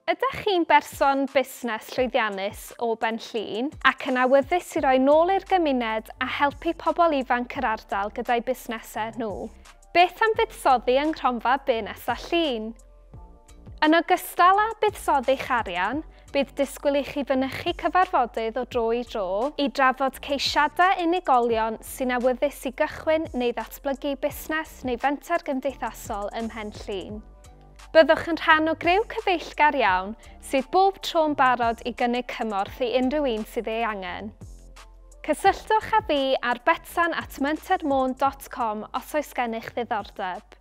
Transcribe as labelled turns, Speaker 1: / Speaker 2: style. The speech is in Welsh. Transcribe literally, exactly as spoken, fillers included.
Speaker 1: Ydych chi'n berson busnes llwyddiannus o Ben Llŷn ac yn awyddus i roi nôl i'r gymuned a helpu pobl ifanc yr ardal gyda'i busnesau nhw? Beth am fuddsoddi yng Nghronfa Be Nesa Llŷn? Yn ogystal â buddsoddi'ch arian, bydd disgwyl i chi fynychu cyfarfodydd o dro i dro i drafod ceisiadau unigolion sy'n awyddus i gychwyn neu ddatblygu busnes neu fenter gymdeithasol ym Mhen Llŷn. Byddwch yn rhan o griw cyfeillgar iawn sydd bob tro'n barod i gynnig cymorth i unrhyw un sydd ei angen. Cysylltwch â fi ar betsan at mentermôn dot com os oes gennych ddiddordeb.